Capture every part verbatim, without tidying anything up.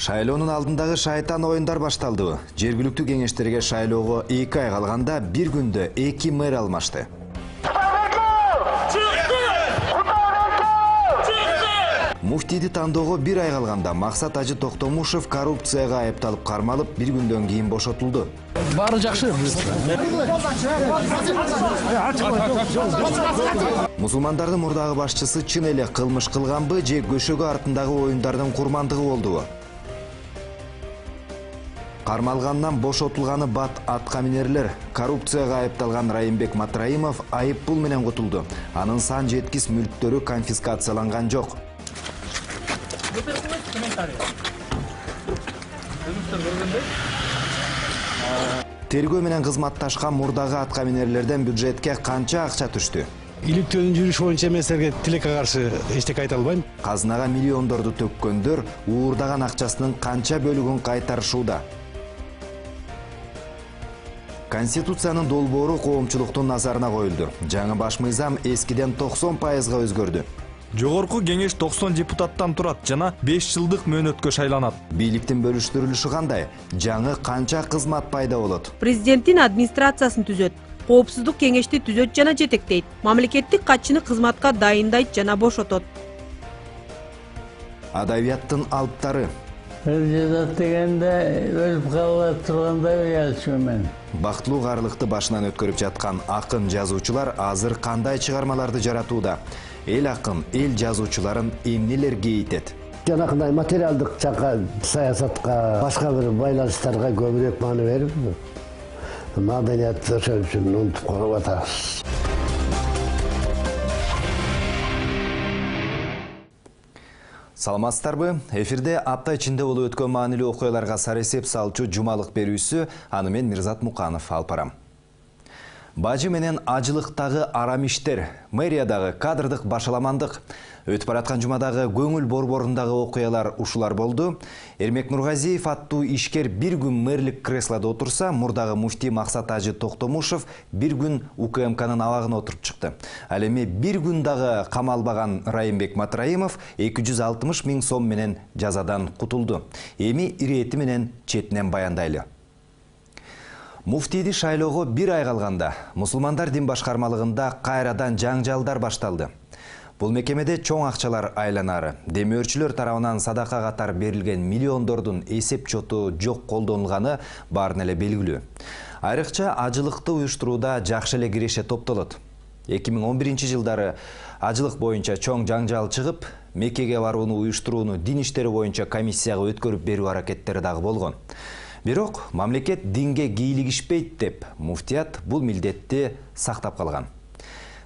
Шайлоонун алдындагы шайтан оюндар башталды. Жергиликтүү кеңештерге шайлоого эки ай калганда бир күндө эки мэр алмашты. Муфтийди тандоого бир ай калганда Максат Ажы Токтомушев коррупцияга айыпталып кармалып, бир күндөн кийин бошотулду. Баары жакшы. Мусулмандардын мурдагы башчысы чын эле кылмыш кылганбы же көшөгө артындагы оюндардын курмандыгы болдубу? Кармалгандан бошотулганы бат аткаминерлер. Коррупцияга айыпталган Райымбек Матраимов айып пул менен кутулду. Анын сан жеткис мүлктөрү конфискацияланган жок. Тергөө менен кызматташкан мурдагы аткаминерлерден бюджетке канча акча түштү? Иликтөөнүн жүрүшү боюнча мен силерге тилекке каршы эчтеке айта албайм. Казынага миллиондорду төккөндөр уурдаган акчасынын канча бөлүгүн кайтарышууда? Конституциянын долбоору коомчулуктун назарына коюлду. Жаңы баш мыйзам эскиден токсон пайызга өзгөрдү. Жогорку кеңеш токсон депутаттан турат жана беш жылдык мөөнөткө шайланат. Бийликтин бөлүштүрүлүшү кандай? Жаңы канча кызмат пайда болот? Президенттин администрациясын түзөт, коопсуздук кеңешти түзөт жана жетектейт. Мамлекеттик катчыны кызматка дайындайт жана бошотот. Адабияттын алыптары. Президент дегенде өлүп кала тургандай уялчумун мен. Бактылуу карлыкты башынан өткөрүп жаткан акын жазуучулар азыр кандай чыгармаларды жаратууда? Эл акын, эл жазуучуларын эмнелер кейитет? Жанакындай материалдык жакка, саясатка, башка бир байланыштарга көбүрөөк маани берип, маданиятты ошол үчүн унутуп калып атабыз. Саламатсыздарбы? Эфирде апта ичинде болуп өткөн маанилүү окуяларга саресеп салчу жумалык берүүсү, аны мен Мирзат Муканов алып барам. Бажы менен ажылыктагы арам иштер, мэриядагы кадрдык башаламандык, өтүп бараткан жумадагы көңүл борборундагы окуялар ушулар болду. Эрмек Нургазиев аттуу ишкер бир күн мэрлик креслодо отурса, мурдагы муфтий Максат Ажы Токтомушев бир күн УКМКнын абагына отуруп чыкты. Ал эми бир күн дагы камалбаган Райымбек Матраимов эки жүз алтымыш миң сом менен жазадан кутулду. Эми ирети менен четинен баяндайлы. Муфтийди шайлоого бир ай калганда мусулмандар дин башкармалыгында кайрадан жаңжалдар башталды. Бул мекемеде чоң акчалар айланары, демөөрчүлөр тарабынан садака катар берилген миллиондордун эсеп чоту жок колдонулганы баарын эле белгилүү. Айрыкча ажылыкты уюштурууда жакшы эле киреше топтолот. эки миң он биринчи жылдары ажылык боюнча чоң жаңжал чыгып, Меккеге барууну уюштурууну дин иштери боюнча комиссияга өткөрүп берүү аракеттери дагы болгон. Бирок мамлекет динге кийлигишпейт деп, муфтият бул милдетти сактап калган.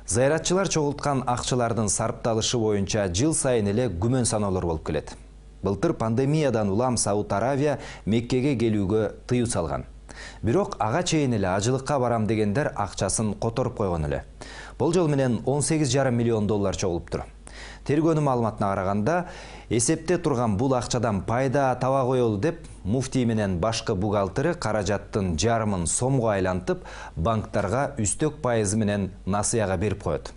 Зыяратчылар чогулткан акчалардын сарпталышы боюнча жыл сайын эле күмөн саноолор болуп келет. Былтыр пандемиядан улам Сауд Аравия Меккеге келүүгө тыюу салган. Бирок ага чейин эле ажылыкка барам дегендер акчасын которуп койгон эле. Болжол менен он сегиз жарым миллион доллар чогулуптур. Тергөөнүн маалыматына караганда, эсепте турган бул акчадан пайда таба коелу деп, муфтий менен башкы бухгалтери каражаттын жарымын сомго айлантып, банктарга үстөк пайызы менен насыяга берип коет.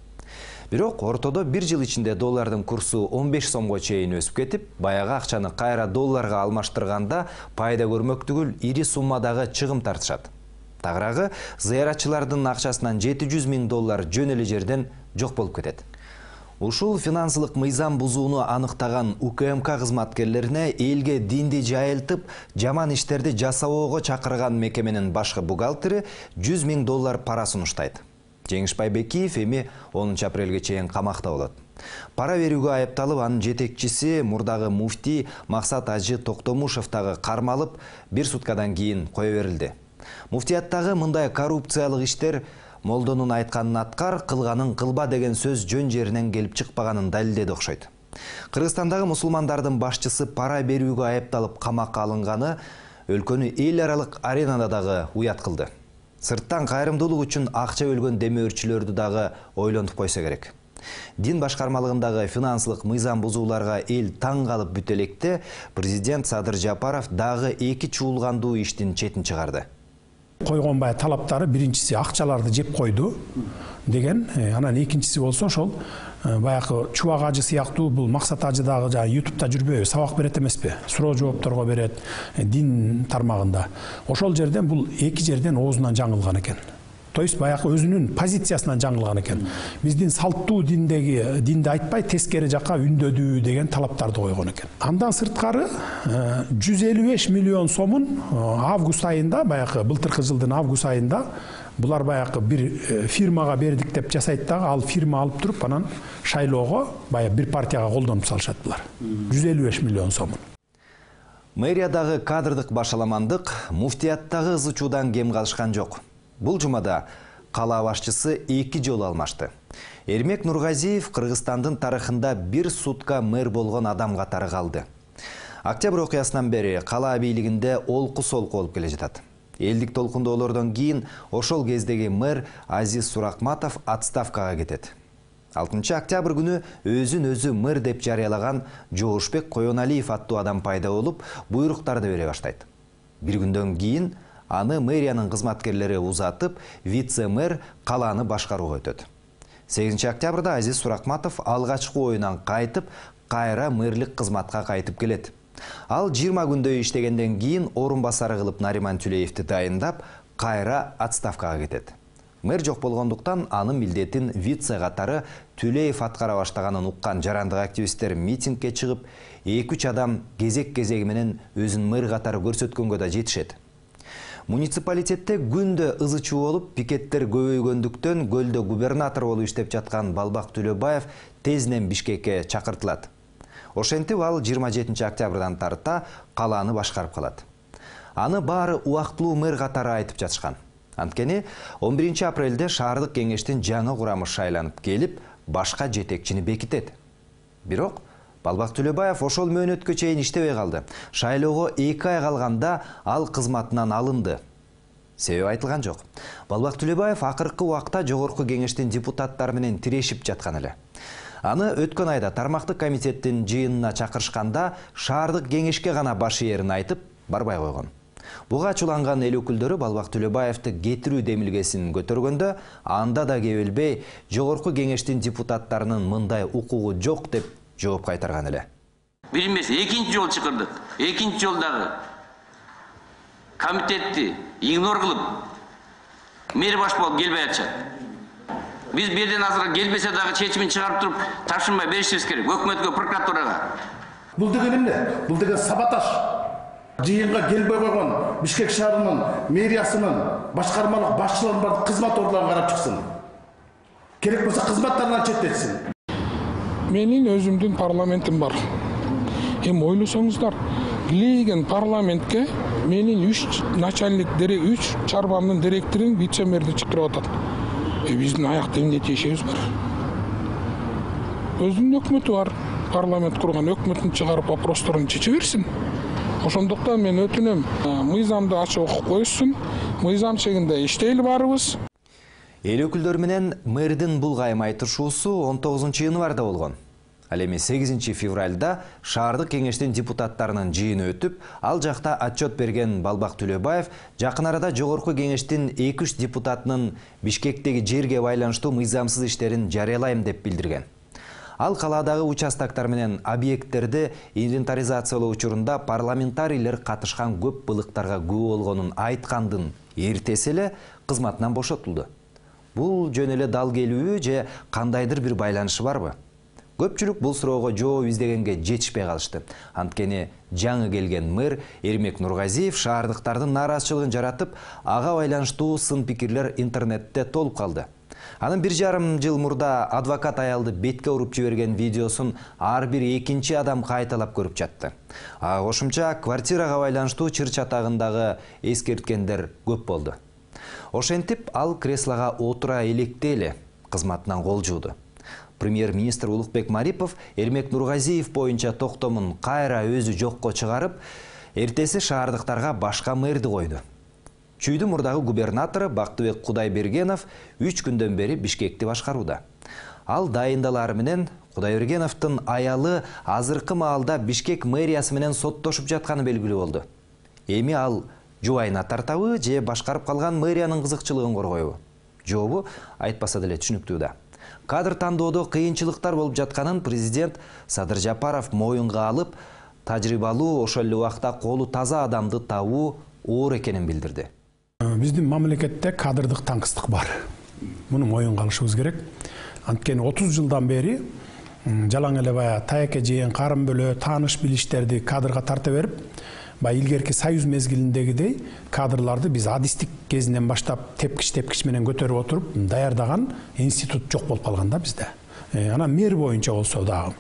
Бирок ортодо бир жыл ичинде доллардын курсу он беш сомго чейин өсүп кетип, баягы акчаны кайра долларга алмаштырганда пайда көрмөк түгүл ири суммадагы чыгым тартышат. Тагыраагы зыяратчылардын акчасынан жети жүз миң доллар жөн эле жерден жок болуп кетет. Ушул финансылык мыйзам бузууну аныктаган УКМК кызматкерлерине элге динди жайылтып, жаман иштерди жасабоого чакырган мекеменин башкы бухгалтери жүз миң доллар пара сунуштайт. Жеңишбай Бекиев эми онунчу апрелге чейин камакта болот. Пара берүүгө айыпталып, анын жетекчиси мурдагы муфтий Максат Ажы Токтомушев дагы кармалып, бир суткадан кийин кое берилди. Муфтияттагы мындай коррупциялык иштер молдонун айтканын аткар, кылганын кылба деген сөз жөн жеринен келип чыкпаганын далилдеди окшойт. Кыргызстандагы мусулмандардын башчысы пара берүүгө айыпталып камакка алынганы өлкөнү эл аралык аренада дагы уят кылды. Сырттан кайрымдуулук үчүн акча бөлгөн демөөрчүлөрдү дагы ойлонуп койсо керек. Дин башкармалыгындагы финансылык мыйзам бузууларга эл таң калып бүт электе, президент Садыр Жапаров дагы эки чуулгандуу иштин четин чыгарды. Койгон баягы талаптары биринчиси акчаларды жеп койду деген, анан экинчиси болсо ошол баягы чубак ажы сыяктуу бул максат ажы дагы жана ютубта жүрбөйбү, сабак берет эмеспи? Суроо жоопторго берет дин тармагында. Ошол жерден бул эки жерден оозунан жаңылган экен. То есть баягы өзүнүн позициясынан жаңылган экен. Биздин салттуу диндеги динди айтпай тескери жакка үндөдүү деген талаптарды койгон экен. Андан сырткары жүз элүү беш миллион сомун август айында, баягы былтыркы жылдын август айында булар баягы бир фирмага бердик деп жасайт дагы, ал фирма алып туруп анан шайлоого баягы бир партияга колдонуп салышат булар. жүз элүү беш миллион сомун. Мэриядагы кадрдык башаламандык муфтияттагы ызы чуудан кем калышкан жок. Бул жумада кала башчысы эки жолу алмашты. Эрмек Нургазиев Кыргызстандын тарыхында бир сутка мэр болгон адам катары калды. Октябрь окуясынан бери кала бийлигинде олку-солку болуп келе жатат. Элдик толкундоолордон кийин ошол кездеги мэр Азиз Суракматов отставкага кетет. алтынчы октябрь күнү өзүн өзү мэр деп жарыялаган Жоошбек Коеналиев аттуу адам пайда болуп, буйруктарды бере баштайт. Бир күндөн кийин аны мэриянын кызматкерлери узатып, вице-мэр каланы башкарууга өтөт. сегизинчи октябрда Азиз Суракматов алгачкы оюнан кайтып, кайра мэрлик кызматка кайтып келет. Ал жыйырма күндөй иштегенден кийин орун басары кылып Нариман Түлеевди дайындап, кайра отставкага кетет. Мэр жок болгондуктан анын милдетин вице катары Түлеев аткара баштаганын уккан жарандык активисттер митингге чыгып, эки үч адам кезек-кезеги менен өзүн мэр катары көрсөткөнгө да жетишет. Муниципалитетте күндө ызы чуу болуп, пикеттер көбөйгөндүктөн көлдө губернатор болуп иштеп жаткан Балбак Түлөбаев тезинен Бишкекке чакыртылат. Ошентип ал жыйырма жетинчи октябрдан тарта каланы башкарып калат. Аны баары убактылуу мэр катары айтып жатышкан. Анткени он биринчи апрелде шаардык кеңештин жаңы курамы шайланып келип, башка жетекчини бекитет. Бирок Балбак Түлөбаев ошол мөөнөткө чейин иштебей калды. Шайлоого эки ай калганда ал кызматынан алынды. Себеби айтылган жок. Балбак Түлөбаев акыркы убакта жогорку кеңештин депутаттары менен тирешип жаткан эле. Аны өткөн айда тармактык комитеттин жыйынына чакырышканда шаардык кеңешке гана баш ээрин айтып, барбай койгон. Буга ачууланган эл өкүлдөрү Балбак Түлөбаевди кетирүү демилгесин көтөргөндө, анда да кебелбей жогорку кеңештин депутаттарынын мындай укугу жок деп жооп кайтарган эле. Бир эмес, экинчи жол чакырдык. Экинчи жолдагы комитетти игнор кылып, мэр баш болуп келбей атышат. Биз берден азыр келбесе дагы чечимин чыгарып туруп, тапшырмай беришибиз керек өкмөткө, прокуратурага. Бул деген эмне? Бул деген саботаж. Жыйынга келбей койгон Бишкек шаарынын мэриясынын башкармалык башчыларын бар кызмат ордуна карап чыксын. Керек болсо кызматтарынан четтетсин. Менин өзүмдүн парламентим бар. Эми ойлосоңуздар, Леген парламентке менин үч начальник дерек үч чарбамдын директорун вице-мэрди чакырып атат. Э биздин аякта эмне тиешебиз бар? Өзүнүн өкмөтү бар. Парламент курган өкмөтүн чыгарып вопросторун чече берсин. Ошондуктан мен өтүнөм, мыйзамды ачып окуп коюшсун. Мыйзам чегинде иштейли барыбыз. Эл өкүлдөрү менен мэрдин бул кайым айтышуусу он тогузунчу январда болгон. Ал эми сегизинчи февралда шаардык кеңештин депутаттарынын жыйыны өтүп, ал жакта отчет берген Балбак Түлөбаев жакын арада жогорку кеңештин эки үч депутатынын Бишкектеги жерге байланыштуу мыйзамсыз иштерин жарыялайм деп билдирген. Ал каладагы участоктор менен объекттерди инвентаризациялоо учурунда парламентарийлер катышкан көп былыктарга күбө болгонун айткандын эртеси эле кызматынан бошотулду. Бул жөн эле дал келүүбү же кандайдыр бир байланышы барбы? Көпчүлүк бул суроого жооп издегенге жетишпей калышты. Анткени жаңы келген мэр Эрмек Нургазиев шаардыктардын нааразычылыгын жаратып, ага байланыштуу сын пикирлер интернетте толуп калды. Анын бир жарым жыл мурда адвокат аялды бетке уруп жиберген видеосун ар бир экинчи адам кайталап көрүп жатты. А кошумча квартирага байланыштуу чыр чатагындагы эскерткендер көп болду. Ошентип ал креслого отура электе эле кызматынан кол жууду. Премьер-министр Улукбек Марипов Эрмек Нургазиев боюнча токтомун кайра өзү жокко чыгарып, эртеси шаардыктарга башка мэрди койду. Чүйдү мурдагы губернатору Бактыбек Кудайбергенов үч күндөн бери Бишкекти башкарууда. Ал дайындалары менен Кудайбергеновдун аялы азыркы маалда Бишкек мэриясы менен соттошуп жатканы белгилүү болду. Эми ал жубайына тартабы же башкарып калган мэриянын кызыкчылыгын коргойбу? Жообу айтпаса деле түшүнүктүү да. Кадр тандоодо кыйынчылыктар болуп жатканын президент Садыр Жапаров моюнга алып, тажрыйбалуу, ошол эле убакта колу таза адамды табуу оор экенин билдирди. Биздин мамлекетте кадрдык таңкыстык бар. Муну моюнга алышыбыз керек. Анткени отуз жылдан бери жалаң эле баягы таяке жеген карын бөлө, тааныш билиштерди кадрга тарта берип, баягы илгерки союз мезгилиндегидей кадрларды биз адистик кезинен баштап тепкич тепкич менен көтөрүп отуруп даярдаган институт жок болуп калган да бизде. Анан мэр боюнча болсо дагы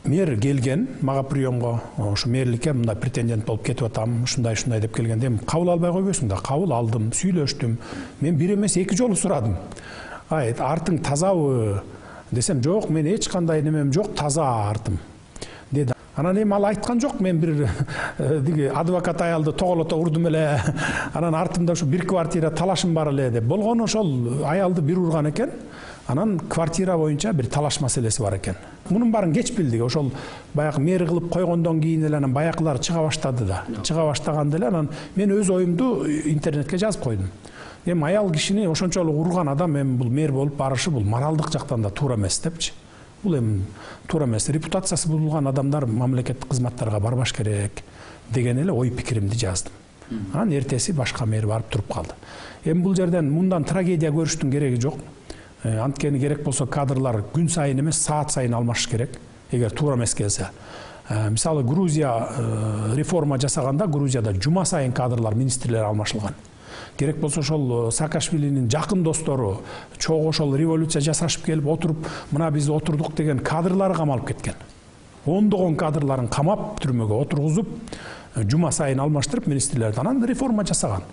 мэр келген мага приемго, ошо мэрликке мындай претендент болуп кетип атам, ушундай ушундай деп келгенде кабыл албай койбойсуң да. Кабыл алдым, сүйлөштүм. Мен бир эмес эки жолу сурадым. Айт, артың тазабы десем, жок, мен эч кандай немем жок, таза артым деди. Анан эми ал айткан жок, мен бир адвокат аялды тоголото урдум эле, анан артымда ушу бир квартира талашым бар эле деп. Болгону ошол аялды бир урган экен. Анан квартира боюнча бир талаш маселеси бар экен. Мунун баарын кеч билдик. Ошол баягы мэр кылып койгондон кийин эле анан баякылар чыга баштады да. Чыга баштаганда эле анан мен өз оюмду интернетке жазып койдум. Эми аял кишини ошончолук урган адам эми бул мэр болуп барышы бул моралдык жактан да туура эмес депчи. Бул эми туура эмес. Репутациясы бузулган адамдар мамлекеттик кызматтарга барбаш керек деген эле ой пикиримди жаздым. Анан эртеси башка мэр барып туруп калды. Эми бул жерден мындан трагедия көрүштүн кереги жок. Анткени керек болсо кадрлар күн сайын эмес, саат сайын алмашыш керек, эгер туура эмес келсе. Мисалы Грузия реформа жасаганда Грузияда жума сайын кадрлар, министрлер алмашылган. Керек болсо ошол Саакашвилинин жакын достору чогуу ошол революция жасашып келип отуруп, мына биз отурдук деген кадрлары камалып кеткен. Ондогон кадрларын камап түрмөгө отургузуп, жума сайын алмаштырып министрлерди анан реформа жасаган.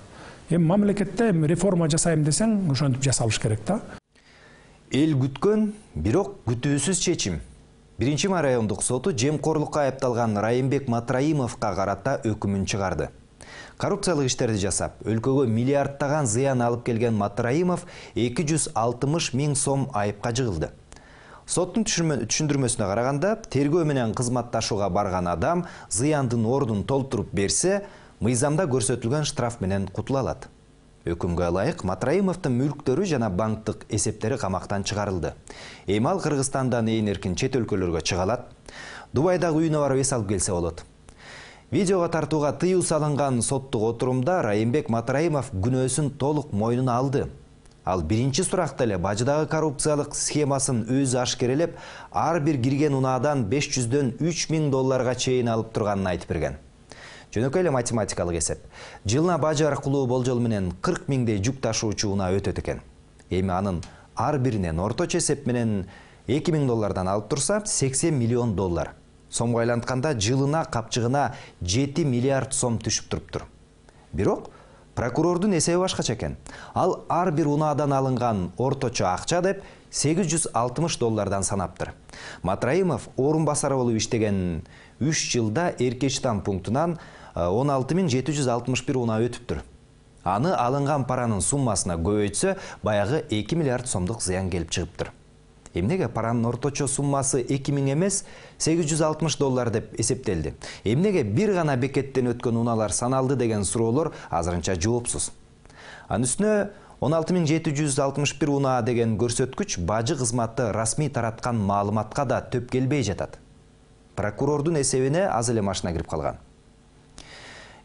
Эми мамлекетте реформа жасайм десең, ошентип жасалыш керек да. Эл күткөн, бирок күтүүсүз чечим. Биринчи райондук соту жемкорлукка айыпталган Райымбек Матраимовго карата өкүмүн чыгарды. Коррупциялык иштерди жасап, өлкөгө миллиардтаган зыян алып келген Матраимов эки жүз алтымыш миң сом айыпка жыгылды. Соттун түшүндүрмөсүнө караганда, тергөө менен кызматташууга барган адам зыяндын ордун толтуруп берсе, мыйзамда көрсөтүлгөн штраф менен кутула алат. Өкүмгө ылайык Матраимовдун мүлктөрү жана банктык эсептери камактан чыгарылды. Эми ал Кыргызстандан ээн эркин чет өлкөлөргө чыга алат. Дубайдагы үйүнө барып эс алып келсе болот. Видеого тартууга тыюу салынган соттук отурумда Райымбек Матраимов күнөөсүн толук мойнуна алды. Ал биринчи суракта эле бажыдагы коррупциялык схемасын өзү ашкерелеп, ар бир кирген унаадан беш жүздөн үч миң долларга чейин алып турганын айтып берген. Жөнөкөй эле математикалык эсеп. Жылына бажы аркылуу болжол менен кырк миңдей жүк ташуучу унаа өтөт экен. Эми анын ар биринен орточо эсеп менен эки миң доллардан алып турса, сексен миллион доллар. Сомго айлантканда жылына капчыгына жети миллиард сом түшүп туруптур. Бирок прокурордун эсеби башкача экен. Ал ар бир унаадан алынган орточо акча деп сегиз жүз алтымыш доллардан санаптыр. Матраимов орун басары болуп иштеген үч жылда Эркечтан пунктунан он алты миң жети жүз алтымыш бир унаа өтүптүр. Аны алынган паранын суммасына көбөйтсө, баягы эки миллиард сомдук зыян келип чыгыптыр. Эмнеге паранын орточо суммасы эки миң эмес, сегиз жүз алтымыш доллар деп эсептелди? Эмнеге бир гана бекеттен өткөн унаалар саналды деген суроолор азырынча жоопсуз. Анын үстүнө он алты миң жети жүз алтымыш бир унаа деген көрсөткүч бажы кызматы расмий тараткан маалыматка да төп келбей жатат. Прокурордун эсебине аз эле машина кирип калган.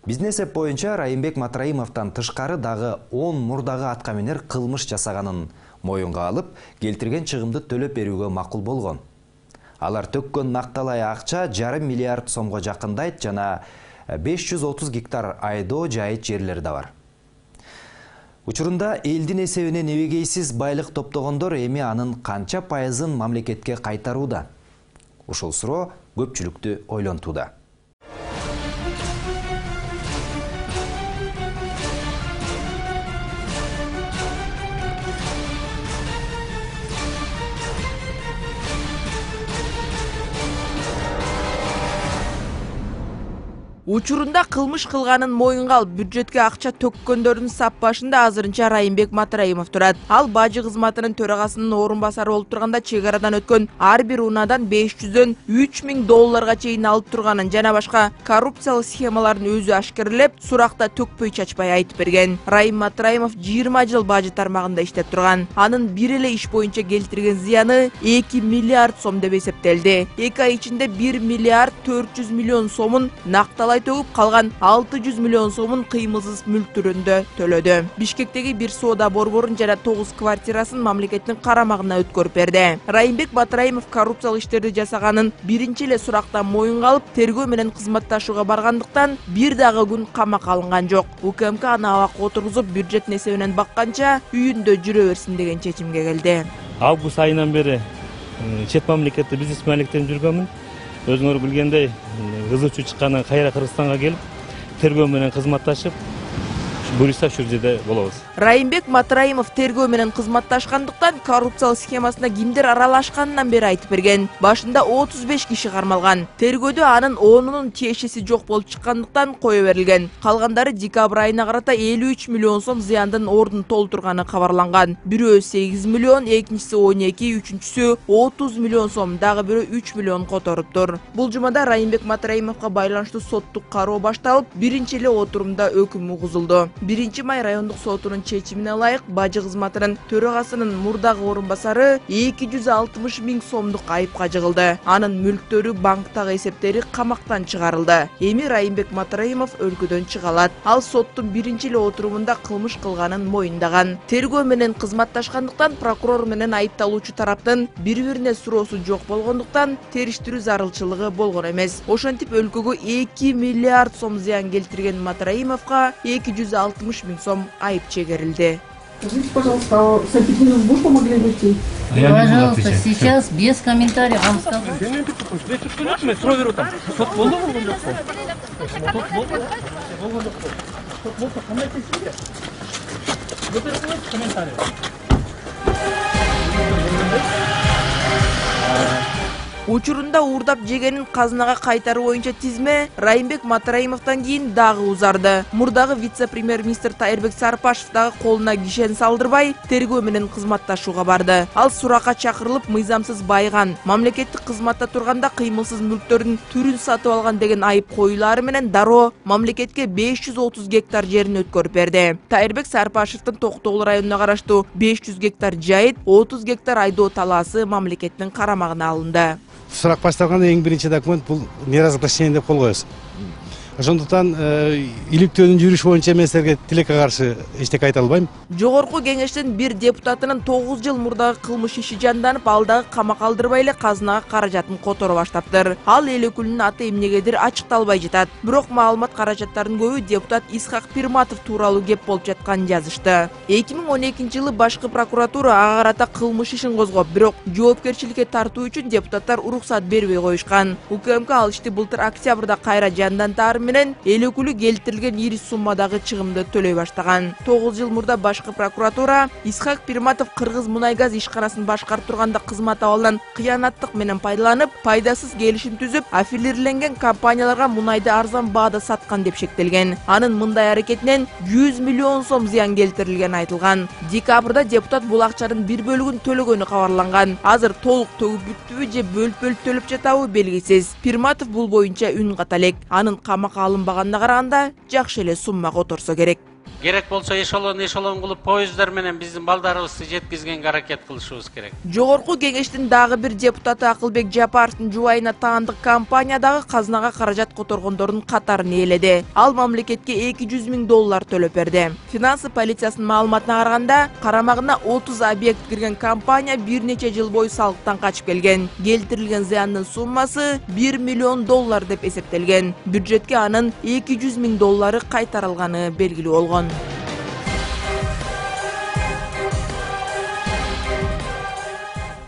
Биздин эсеп боюнча Райымбек Матраимовдон тышкары дагы он мурдагы аткаминер кылмыш жасаганын моюнга алып, келтирген чыгымды төлөп берүүгө макул болгон. Алар төккөн накталай акча жарым миллиард сомго жакындайт жана беш жүз отуз гектар айдоо жайыт жерлери да бар. Учурунда элдин эсебине небегейсиз байлык топтогондор эми анын канча пайызын мамлекетке кайтарууда? Ушул суроо көпчүлүктү ойлонтууда. Учурунда кылмыш кылганын моюнга алып бюджетке акча төккөндөрдүн сап башында азырынча Райымбек Матраимов турат. Ал бажы кызматынын төрагасынын орун басары болуп турганда чек арадан өткөн ар бир унаадан беш жүздөн үч миң долларга чейин алып турганын жана башка коррупциялык схемаларын өзү ашкерлеп, суракта төкпөй чачпай айтып берген. Райым Матраимов жыйырма жыл бажы тармагында иштеп турган. Анын бир эле иш боюнча келтирген зыяны эки миллиард сом деп эсептелди. эки ай ичинде бир миллиард төрт жүз миллион сомун накталай төгүп, калган алты жүз миллион сомун кыймылсыз мүлк түрүндө төлөдү. Бишкектеги бир соода борборун жана тогуз квартирасын мамлекеттин карамагына өткөрүп берди. Райымбек Батраимов коррупциялык иштерди жасаганын биринчи эле сурактан моюнга алып, тергөө менен кызматташууга баргандыктан бир дагы күн камакка алынган жок. УКМК аны абакка отургузуп, бюджет эсебинен бакканча үйүндө жүрө берсин деген чечимге келди. Август айынан бери чет мамлекетте бизнес маалектенип жүргөнмүн. Өзүңөр билгендей, кызычуу чыккандан кайра Кыргызстанга келип, тергөө менен кызматташып, буюрса ушул жерде болобуз. Райымбек Матраимов тергөө менен кызматташкандыктан коррупциялык схемасына кимдер аралашканынан бери айтып берген. Башында отуз беш киши кармалган. Тергөөдө анын онунун тиешеси жок болуп чыккандыктан кое берилген. Калгандары декабрь айына карата элүү үч миллион сом зыяндын ордун толтурганы кабарланган. Бирөө сегиз миллион, экинчиси он эки, үчүнчүсү отуз миллион сом, дагы бирөө үч миллион которуптур. Бул жумада Райымбек Матраимовго байланыштуу соттук кароо башталып, биринчи эле отурумда өкүм угузулду. биринчи май райондук сотунун чечимине ылайык бажы кызматынын төрагасынын мурдагы орун басары эки жүз алтымыш миң сомдук айыпка жыгылды. Анын мүлктөрү, банктагы эсептери камактан чыгарылды. Эми Райымбек Матраимов өлкөдөн чыга алат. Ал соттун биринчи эле отурумунда кылмыш кылганын моюндаган. Тергөө менен кызматташкандыктан прокурор менен айыпталуучу тараптын бири-бирине суроосу жок болгондуктан териштирүү зарылчылыгы болгон эмес. Ошентип өлкөгө эки миллиард сом зыян келтирген Матраимовго эки жүз алтымыш миң сом айып чегерилди. Скажите, пожалуйста, с аппетитом вы помогли выйти? Пожалуйста, сейчас без комментариев вам скажу. Учурунда уурдап жегенин казынага кайтаруу боюнча тизме Райымбек Матраимовдон кийин дагы узарды. Мурдагы вице-премьер-министр Тайырбек Сарпашев дагы колуна кишен салдырбай, тергөө менен кызматташууга барды. Ал суракка чакырылып, мыйзамсыз байган, мамлекеттик кызматта турганда кыймылсыз мүлктөрдүн түрүн сатып алган деген айып коюлары менен дароо мамлекетке беш жүз отуз гектар жерин өткөрүп берди. Тайырбек Сарпашевдин Токтогул районуна караштуу беш жүз гектар жайыт, отуз гектар айдоо талаасы мамлекеттин карамагына алынды. Сурак башталганда эң биринчи документ бул неразглашение деп кол коесуз. Ошондуктан иликтөөнүн жүрүшү боюнча мен силерге тилекке каршы эчтеке айта албайм. Жогорку кеңештин бир депутатынын тогуз жыл мурдагы кылмыш иши жанданып, ал дагы камакка алдырбай эле казынага каражатын которо баштаптыр. Ал эл өкүлүнүн аты эмнегедир ачыкталбай жатат. Бирок маалымат каражаттарынын көбү депутат Исхак Пирматов тууралуу кеп болуп жатканын жазышты. эки миң он экинчи жылы башкы прокуратура ага карата кылмыш ишин козгоп, бирок жоопкерчиликке тартуу үчүн депутаттар уруксат бербей коюшкан. УКМК ал ишти былтыр октябрда кайра жандантаары менен эл өкүлү келтирилген ири суммадагы чыгымды төлөй баштаган. тогуз жыл мурда башкы прокуратура Исхак Пирматов Кыргыз мунай газ ишканасын башкарып турганда кызмат абалынан кыянаттык менен пайдаланып, пайдасыз келишим түзүп, аффилирленген компанияларга мунайды арзан баада саткан деп шектелген. Анын мындай аракетинен жүз миллион сом зыян келтирилгени айтылган. Декабрда депутат бул акчанын бир бөлүгүн төлөгөнү кабарланган. Азыр толук төгүп бүттүбү же бөлүп-бөлүп төлөп жатабы белгисиз. Пирматов бул боюнча үн ката элек. Анын камакка алынбаганына караганда жакшы эле сумма которсо керек. Керек болсо эшелон эшелон кылып поездар менен биздин балдарыбызды жеткизгенге аракет кылышыбыз керек. Жогорку кеңештин дагы бир депутаты Акылбек Жапаровдун жубайына таандык компания дагы казынага каражат которгондордун катарын ээледи. Ал мамлекетке эки жүз миң доллар төлөп берди. Финансы полициясынын маалыматына караганда, карамагына отуз объект кирген компания бир нече жыл бою салыктан качып келген. Келтирилген зыяндын суммасы бир миллион доллар деп эсептелген. Бюджетке анын эки жүз миң доллары кайтарылганы белгилүү болгон.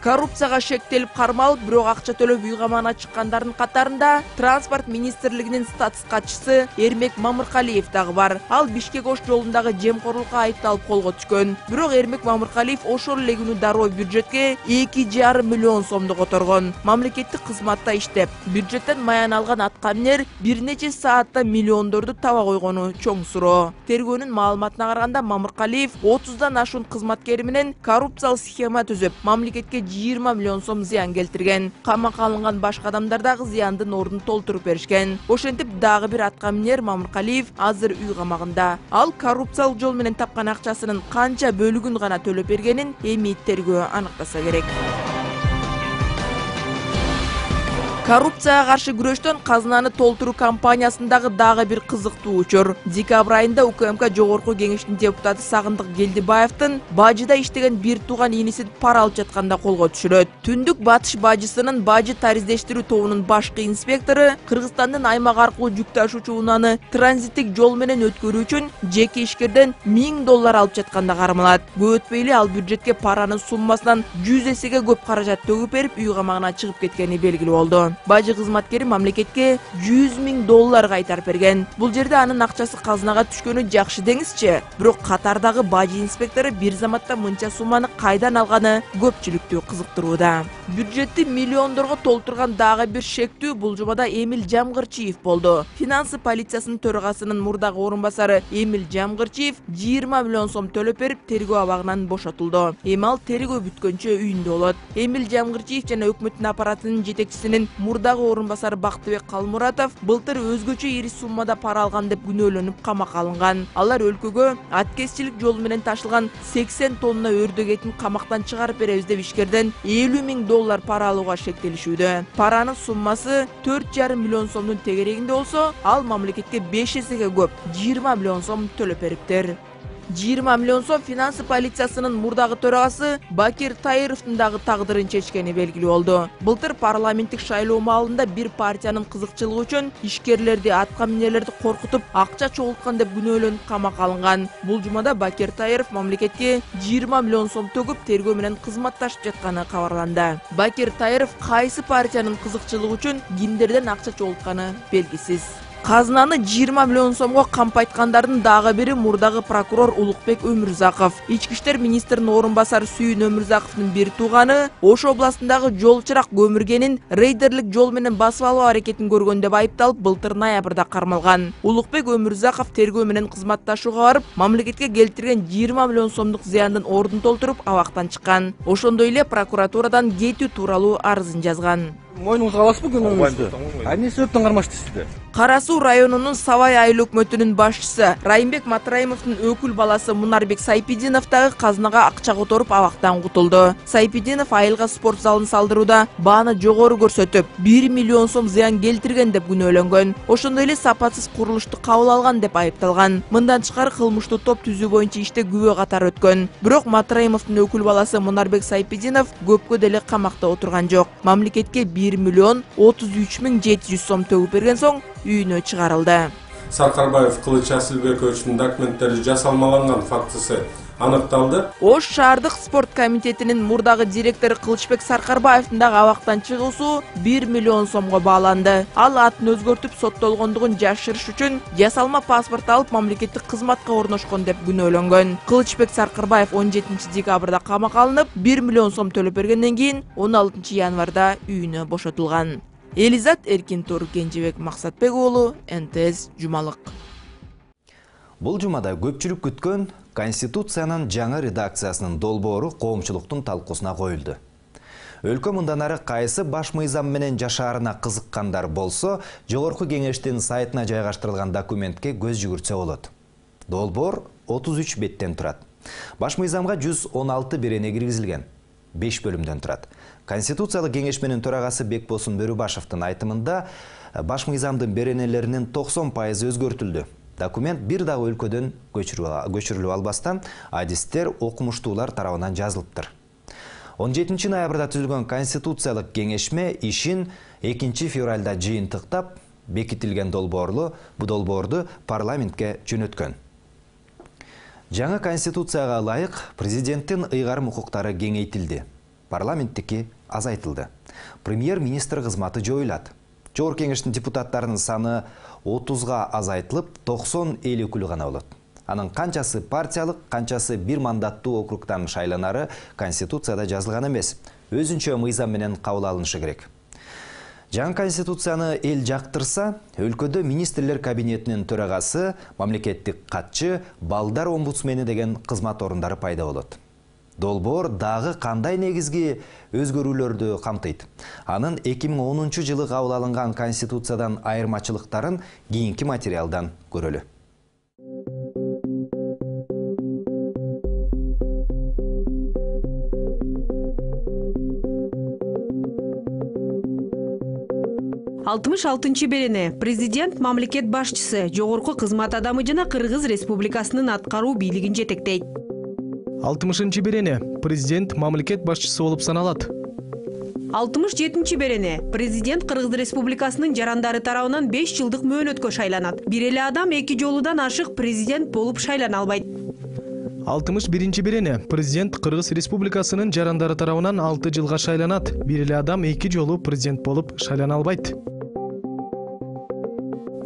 Коррупцияга шектелип кармалып, бирок акча төлөп үй камагына чыккандардын катарында транспорт министрлигинин статс катчысы Эрмек Мамыркалиев дагы бар. Ал Бишкек Ош жолундагы жемкорлукка айыпталып колго түшкөн. Бирок Эрмек Мамыркалиев ошол эле күнү дароо бюджетке эки жарым миллион сомду которгон. Мамлекеттик кызматта иштеп, бюджеттен маян алган аткаминер бир нече саатта миллиондорду таба койгону чоң суроо. Тергөөнүн маалыматына караганда Мамыркалиев отуздан ашуун кызматкери менен коррупциялык схема түзүп, мамлекетке жыйырма миллион сом зыян келтирген. Камакка алынган башка адамдар дагы зыяндын ордун толтуруп беришкен. Ошентип дагы бир аткаминер Мамыркалиев азыр үй камагында. Ал коррупциялык жол менен тапкан акчасынын канча бөлүгүн гана төлөп бергенин эми тергөө аныктаса керек. Коррупцияга каршы күрөштөн казынаны толтуруу кампаниясындагы дагы бир кызыктуу учур. Декабрь айында УКМК Жогорку кеңештин депутаты Сагындык Келдибаевдин бажыда иштеген бир тууган инисин пара алып жатканда колго түшүрөт. Түндүк батыш бажысынын бажы тариздештирүү тобунун башкы инспектору Кыргызстандын аймак аркылуу жүк ташуучу унааны транзиттик жол менен өткөрүү үчүн жеке ишкерден миң доллар алып жатканда кармалат. Көп өтпөй эле ал бюджетке паранын суммасынан жүз эсеге көп каражат төгүп берип, үй камагына чыгып кеткени белгилүү болду. Бажы кызматкери мамлекетке жүз миң доллар кайтарып берген. Бул жерде анын акчасы казынага түшкөнү жакшы деңизчи. Бирок катардагы бажы инспектору бир заматта мынча сумманы кайдан алганы көпчүлүктү кызыктырууда. Бюджетти миллиондорго толтурган дагы бир шектүү бул жумада Эмил Жамгырчиев болду. Финансы полициясынын төрагасынын мурдагы орун басары Эмил Жамгырчиев жыйырма миллион сом төлөп берип, тергөө абагынан бошотулду. Эми ал тергөө бүткөнчө үйүндө болот. Эмил Жамгырчиев жана өкмөттүн аппаратынын жетекчисинин мурдагы орун басары Бактыбек Калмуратов былтыр өзгөчө ири суммада пара алган деп күнөөлөнүп камакка алынган. Алар өлкөгө аткезчилик жолу менен ташылган сексен тонна өрдөк этин камактан чыгарып беребиз деп ишкерден элүү миң доллар пара алууга шектелишүүдө. Паранын суммасы төрт жарым миллион сомдун тегерегинде болсо, ал мамлекетке беш эсеге көп жыйырма миллион сом төлөп бериптир. жыйырма миллион сом финансы полициясынын мурдагы төрагасы Бакир Таировдун дагы тагдырын чечкени белгилүү болду. Былтыр парламенттик шайлоо маалында бир партиянын кызыкчылыгы үчүн ишкерлерди, аткаминерлерди коркутуп, акча чогулткан деп күнөөлөнүп камакка алынган. Бул жумада Бакир Таиров мамлекетке жыйырма миллион сом төгүп, тергөө менен кызматташып жатканы кабарланды. Бакир Таиров кайсы партиянын кызыкчылыгы үчүн кимдерден акча чогултканы белгисиз. Казынаны жыйырма миллион сомго кампайткандардын дагы бири мурдагы прокурор Улукбек Өмүрзаков. Ички иштер министринин орун басары Сүйүн Өмүрзаковдун бир тууганы Ош областындагы жол чырак көмүргенин рейдерлик жол менен басып алуу аракетин көргөн деп айыпталып, былтыр ноябрда кармалган. Улукбек Өмүрзаков тергөө менен кызматташууга барып, мамлекетке келтирген жыйырма миллион сомдук зыяндын ордун толтуруп, абактан чыккан. Ошондой эле прокуратурадан кетүү тууралуу арызын жазган. Мойнуңузга аласызбы күнөөңүздү? Эмне себептен кармашты сизди? Кара Суу районунун Сабай айыл өкмөтүнүн башчысы Райымбек Матраимовдун өкүл баласы Мунарбек Сайпидинов дагы казынага акча которуп абактан кутулду. Сайпидинов айылга спорт залын салдырууда бааны жогору көрсөтүп, бир миллион сом зыян келтирген деп күнөөлөнгөн. Ошондой эле сапатсыз курулушту кабыл алган деп айыпталган. Мындан тышкары кылмыштуу топ түзүү боюнча иште күбө катары өткөн. Бирок Матраимовдун өкүл баласы Мунарбек Сайпидинов көпкө деле камакта отурган жок. Мамлекетке бир миллион отуз үч миң жети жүз сом төгүп берген соң үйүнө чыгарылды. Саркарбаев Кылыч Асылбековичтин документтери жасалмаланган фактысы аныкталды. Ош шаардык спорт комитетинин мурдагы директору Кылычбек Саркарбаевдин дагы абактан чыгуусу бир миллион сомго бааланды. Ал атын өзгөртүп соттолгондугун жашырыш үчүн жасалма паспорт алып мамлекеттик кызматка орношкон деп күнөөлөнгөн. Кылычбек Саркарбаев он жетинчи декабрда камакка алынып, бир миллион сом төлөп бергенден кийин он алтынчы январда үйүнө бошотулган. Элизат Эркинтур, Кенжебек Максатбек уулу, эн тэ эс Жумалык. Бул жумада көпчүлүк күткөн Конституциянын жаңы редакциясынын долбоору коомчулуктун талкуусуна коюлду. Өлкө мындан ары кайсы баш мыйзам менен жашаарына кызыккандар болсо, Жогорку кеңештин сайтына жайгаштырылган документке көз жүгүртсө болот. Долбоор отуз үч беттен турат. Баш мыйзамга жүз он алты берене киргизилген. беш бөлүмдөн турат. Конституциялык кеңеш менен төрагасы Бекбосун Бөрүбашевдин айтымында баш мыйзамдын беренелеринин токсон пайызы өзгөртүлдү. Документ бир дагы өлкөдөн көчүрүлүп албастан адистер, окумуштуулар тарабынан жазылыптыр. он жетинчи ноябрда түзүлгөн Конституциялык кеңешме ишин экинчи февралда жыйынтыктап, бекитилген долбоорлу бу долбоорду парламентке жөнөткөн. Жаңы Конституцияга ылайык президенттин ыйгарым укуктары кеңейтилди. парламенттики азайтылды. Премьер-министр кызматы жоюлат. Жогорку кеңештин депутаттарынын саны отузга азайтылып, токсон эл өкүлү гана болот. Анын канчасы партиялык, канчасы бир мандаттуу округтан шайланары Конституцияда жазылган эмес. Өзүнчө мыйзам менен кабыл алынышы керек. Жаңы Конституцияны эл жактырса, өлкөдө министрлер кабинетинин төрагасы, мамлекеттик катчы, балдар омбудсмени деген кызмат орундары пайда болот. Долбоор дагы кандай негизги өзгөрүүлөрдү камтыйт? Анын эки миң онунчу жылы кабыл алынган Конституциядан айырмачылыктарын кийинки материалдан көрөлү. алтымыш алтынчы берене президент мамлекет башчысы, жогорку кызмат адамы жана Кыргыз Республикасынын аткаруу бийлигин жетектейт. алтымышынчы берене президент мамлекет башчысы болуп саналат. алтымыш жетинчи берене президент Кыргыз Республикасынын жарандары тарабынан беш жылдык мөөнөткө шайланат. Бир эле адам эки жолудан ашык президент болуп шайлана албайт. алтымыш биринчи берене президент Кыргыз Республикасынын жарандары тарабынан алты жылга шайланат. Бир эле адам эки жолу президент болуп шайлана албайт.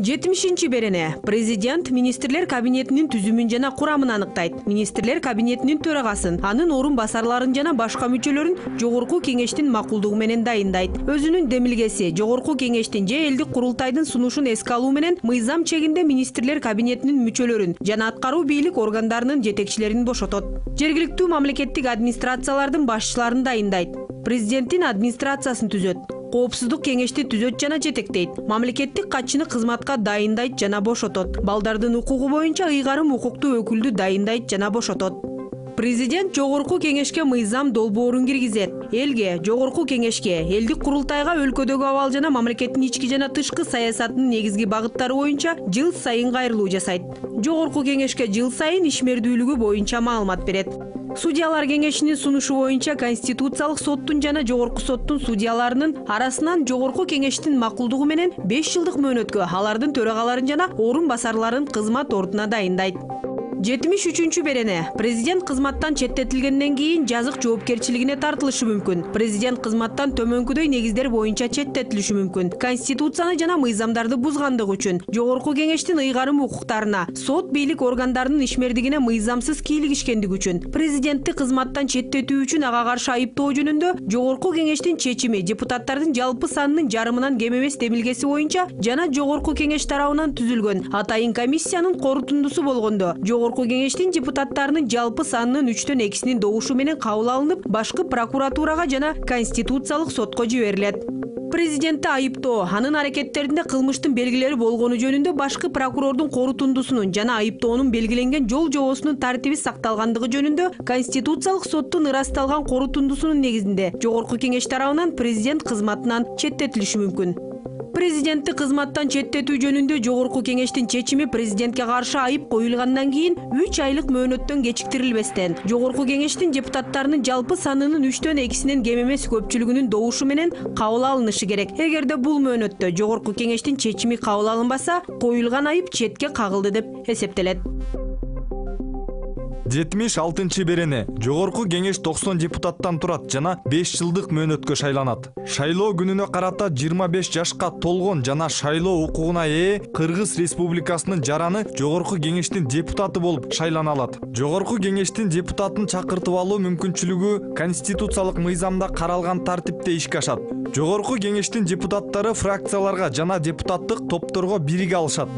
жетимишинчи берене президент министрлер кабинетинин түзүмүн жана курамын аныктайт. Министрлер кабинетинин төрагасын, анын орун басарларын жана башка мүчөлөрүн жогорку кеңештин макулдугу менен дайындайт. Өзүнүн демилгеси жогорку кеңештин же элдик курултайдын сунушун эске алуу менен мыйзам чегинде министрлер кабинетинин мүчөлөрүн жана аткаруу бийлик органдарынын жетекчилерин бошотот. Жергиликтүү мамлекеттик администрациялардын башчыларын дайындайт. Президенттин администрациясын түзөт. Коопсуздук кеңешти түзөт жана жетектейт. Мамлекеттик катчыны кызматка дайындайт жана бошотот. Балдардын укугу боюнча ыйгарым укуктуу өкүлдү дайындайт жана бошотот. Президент жогорку кеңешке мыйзам долбоорун киргизет. Элге, жогорку кеңешке, элдик курултайга өлкөдөгү абал жана мамлекеттин ички жана тышкы саясатынын негизги багыттары боюнча жыл сайын кайрылуу жасайт. Жогорку кеңешке жыл сайын ишмердүүлүгү боюнча маалымат берет. Судьялар кеңешинин сунушу боюнча Конституциялык соттун жана жогорку соттун судьяларынын арасынан жогорку кеңештин макулдугу менен беш жылдык мөөнөткө алардын төрагаларын жана орун басарларын кызмат ордуна дайындайт. жетимиш үчүнчү берене президент кызматтан четтетилгенден кийин жазык жоопкерчилигине тартылышы мүмкүн. Президент кызматтан төмөнкүдөй негиздер боюнча четтетилиши мүмкүн. Конституцияны жана мыйзамдарды бузгандыгы үчүн, жогорку кеңештин ыйгарым укуктарына, сот бийлик органдарынын ишмердигине мыйзамсыз кийлигишкендиги үчүн, президентти кызматтан четтетүү үчүн ага каршы айыптоо жөнүндө жогорку кеңештин чечими депутаттардын жалпы санынын жарымынан кем эмес демилгеси боюнча жана жогорку кеңеш тарабынан түзүлгөн атайын комиссиянын корутундусу болгондо жогорку кеңештин депутаттарынын жалпы санынын үчтөн экисинин добушу менен кабыл алынып, башкы прокуратурага жана Конституциялык сотко жиберилет. Президентти айыптоо, анын аракеттеринде кылмыштын белгилери болгону жөнүндө башкы прокурордун корутундусунун жана айыптоонун белгиленген жол жобосунун тартиби сакталгандыгы жөнүндө Конституциялык соттун ырасталган корутундусунун негизинде жогорку кеңеш тарабынан президент кызматынан четтетилиши мүмкүн. Президентти кызматтан четтетүү жөнүндө жогорку кеңештин чечими президентке каршы айып коюлгандан кийин үч айлык мөөнөттөн кечиктирилбестен жогорку кеңештин депутаттарынын жалпы санынын үчтөн экисинен кем эмес көпчүлүгүнүн добушу менен кабыл алынышы керек. Эгерде бул мөөнөттө жогорку кеңештин чечими кабыл алынбаса, коюлган айып четке кагылды деп эсептелет. жетимиш алтынчы берене жогорку кеңеш токсон депутаттан турат жана беш жылдык мөөнөткө шайланат. Шайлоо күнүнө карата жыйырма беш жашка толгон жана шайлоо укугуна ээ Кыргыз Республикасынын жараны жогорку кеңештин депутаты болуп шайлана алат. Жогорку кеңештин депутатын чакыртып алуу мүмкүнчүлүгү Конституциялык мыйзамда каралган тартипте ишке ашат. Жогорку кеңештин депутаттары фракцияларга жана депутаттык топторго бириге алышат.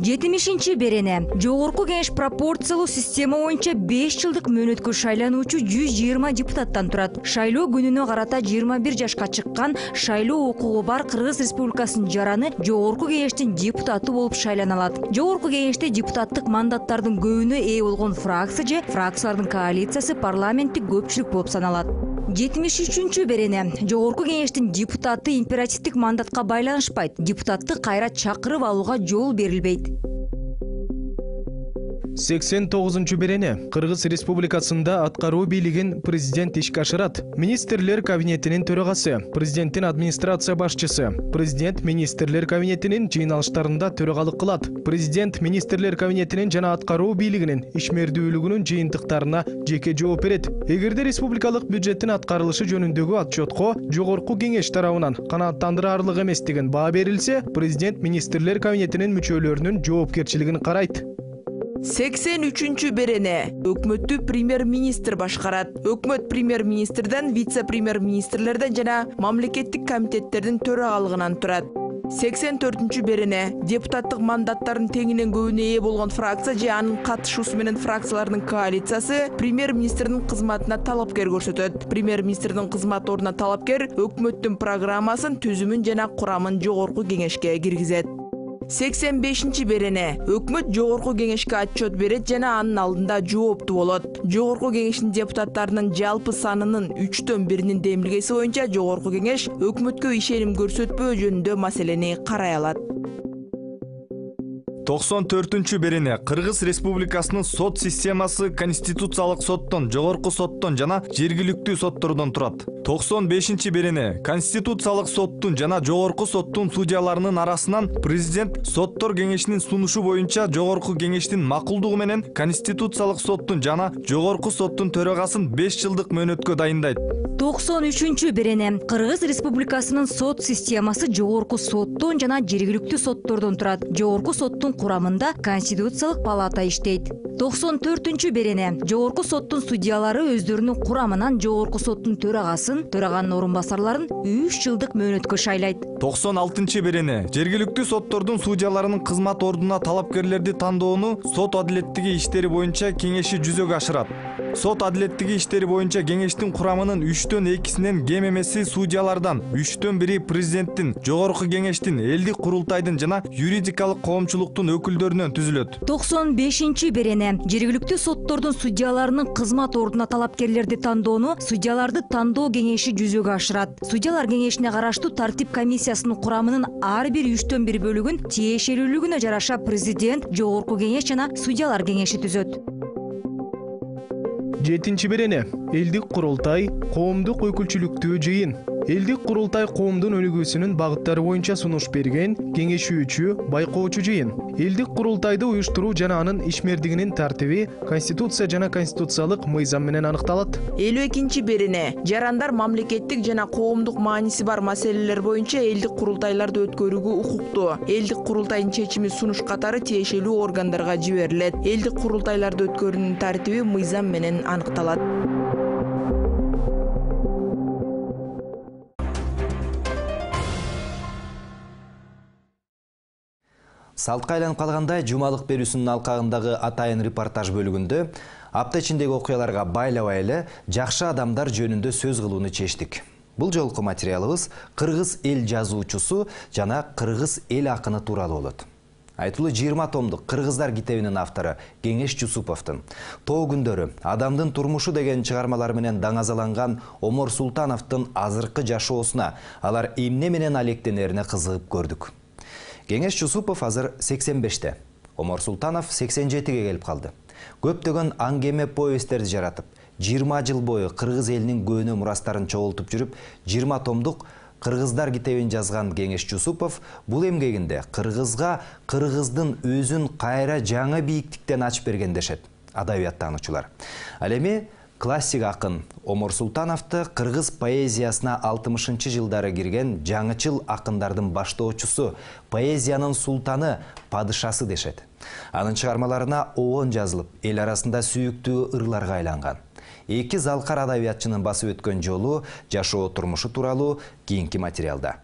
жетимишинчи берене жогорку кеңеш пропорциялуу система боюнча беш жылдык мөөнөткө шайлануучу жүз жыйырма депутаттан турат. Шайлоо күнүнө карата жыйырма бир жашка чыккан, шайлоо укугу бар Кыргыз Республикасынын жараны жогорку кеңештин депутаты болуп шайлана алат. Жогорку кеңеште депутаттык мандаттардын көбүнө ээ болгон фракция же фракциялардын коалициясы парламенттик көпчүлүк болуп саналат. жетимиш үчүнчү берене жогорку кеңештин депутаты императивдик мандатка байланышпайт. Депутатты кайра чакырып алууга жол берилбейт. сексен тогузунчу берене Кыргыз Республикасында аткаруу бийлигин президент ишке ашырат. Министрлер кабинетинин төрагасы, президенттин администрация башчысы, президент министрлер кабинетинин жыйналыштарында төрагалык кылат. Президент министрлер кабинетинин жана аткаруу бийлигинин ишмердүүлүгүнүн жыйынтыктарына жеке жооп берет. Эгерде республикалык бюджеттин аткарылышы жөнүндөгү отчетко жогорку кеңеш тарабынан канааттандырарлык эместигин баа берилсе, президент министрлер кабинетинин мүчөлөрүнүн жоопкерчилигин карайт. сексен үчүнчү берене өкмөттү премьер-министр башкарат. Өкмөт премьер-министрден, вице-премьер-министрлерден жана мамлекеттик комитеттердин төрагалыгынан турат. сексен төртүнчү берене депутаттык мандаттардын теңинен көбүнө ээ болгон фракция же анын катышуусу менен фракциялардын коалициясы премьер-министрдин кызматына талапкер көрсөтөт. Премьер-министрдин кызмат ордуна талапкер өкмөттүн программасын, түзүмүн жана курамын жогорку кеңешке киргизет. сексен бешинчи берене өкмөт жогорку кеңешке отчет берет жана анын алдында жооптуу болот. Жогорку кеңештин депутаттарынын жалпы санынын үчтөн биринин демилгеси боюнча жогорку кеңеш өкмөткө ишеним көрсөтпөө жөнүндө маселени карай алат. токсон төртүнчү берене Кыргыз Республикасынын сот системасы Конституциялык соттон, жогорку соттон жана жергиликтүү соттордон турат. токсон бешинчи берене Конституциялык соттун жана жогорку соттун судьяларынын арасынан президент соттор кеңешинин сунушу боюнча жогорку кеңештин макулдугу менен Конституциялык соттун жана жогорку соттун төрагасын беш жылдык мөөнөткө дайындайт. токсон үчүнчү берене Кыргыз Республикасынын сот системасы жогорку соттон жана жергиликтүү соттордон турат. Жогорку соттун курамында Конституциялык палата иштейт. токсон төртүнчү берене жогорку соттун судьялары өздөрүнүн курамынан жогорку соттун төрагасын, төраганын орун басарларын үч жылдык мөөнөткө шайлайт. токсон алтынчы берене жергиликтүү соттордун судьяларынын кызмат ордуна талапкерлерди тандоону сот адилеттиги иштери боюнча кеңеши жүзөгө ашырат. Сот адилеттиги иштери боюнча кеңештин курамынын үчтөн экисинен кем эмеси судьялардан, үчтөн бири президенттин, жогорку кеңештин, элдик курултайдын жана юридикалык коомчулуктун өкүлдөрүнөн түзүлөт. токсон бешинчи берене жергиликтүү соттордун судьяларынын кызмат ордуна талапкерлерди тандоону судьяларды тандоо кеңеши жүзөгө ашырат. Судьялар кеңешине караштуу тартип комиссиясынын курамынын ар бир үчтөн бир бөлүгүн тиешелүүлүгүнө жараша президент, жогорку кеңеш жана судьялар кеңеши түзөт. жетинчи берене элдик курултай коомдук өкүлчүлүктүү жыйын. Элдик курултай коомдун өнүгүүсүнүн багыттары боюнча сунуш берген кеңешүүчү, байкоочу жыйын. Элдик курултайды уюштуруу жана анын ишмердигинин тартиби Конституция жана конституциялык мыйзам менен аныкталат. элүү экинчи берене жарандар мамлекеттик жана коомдук мааниси бар маселелер боюнча элдик курултайларды өткөрүүгө укуктуу. Элдик курултайдын чечими сунуш катары тиешелүү органдарга жиберилет. Элдик курултайларды өткөрүүнүн тартиби мыйзам менен аныкталат. Салтка айланып калгандай жумалык берүүсүнүн алкагындагы атайын репортаж бөлүгүндө апта ичиндеги окуяларга байлабай эле жакшы адамдар жөнүндө сөз кылууну чечтик. Бул жолку материалыбыз кыргыз эл жазуучусу жана кыргыз эл акыны тууралуу болот. Айтылуу жыйырма томдук Кыргыздар китебинин автору Кеңеш Жусуповдун Тоо күндөрү, Адамдын турмушу деген чыгармалары менен даңазаланган Омор Султановдун азыркы жашоосуна, алар эмне менен алектенерине кызыгып көрдүк. Кеңеш Жусупов азыр сексен беште, Омор Султанов сексен жетиге келип калды. Көптөгөн аңгеме повесттерди жаратып, жыйырма жыл бою кыргыз элинин көөнө мурастарын чогултуп жүрүп, жыйырма томдук Кыргыздар китебин жазган Кеңеш Жусупов бул эмгегинде кыргызга кыргыздын өзүн кайра жаңы бийиктиктен ачып берген дешет адабияттануучулар. Ал эми классик акын Омор Султановду кыргыз поэзиясына алтымышынчы жылдары кирген жаңычыл акындардын баштоочусу, поэзиянын султаны, падышасы дешет. Анын чыгармаларына оон жазылып, эл арасында сүйүктүү ырларга айланган. Эки залкар адабиятчынын басып өткөн жолу, жашоо турмушу тууралуу кийинки материалда.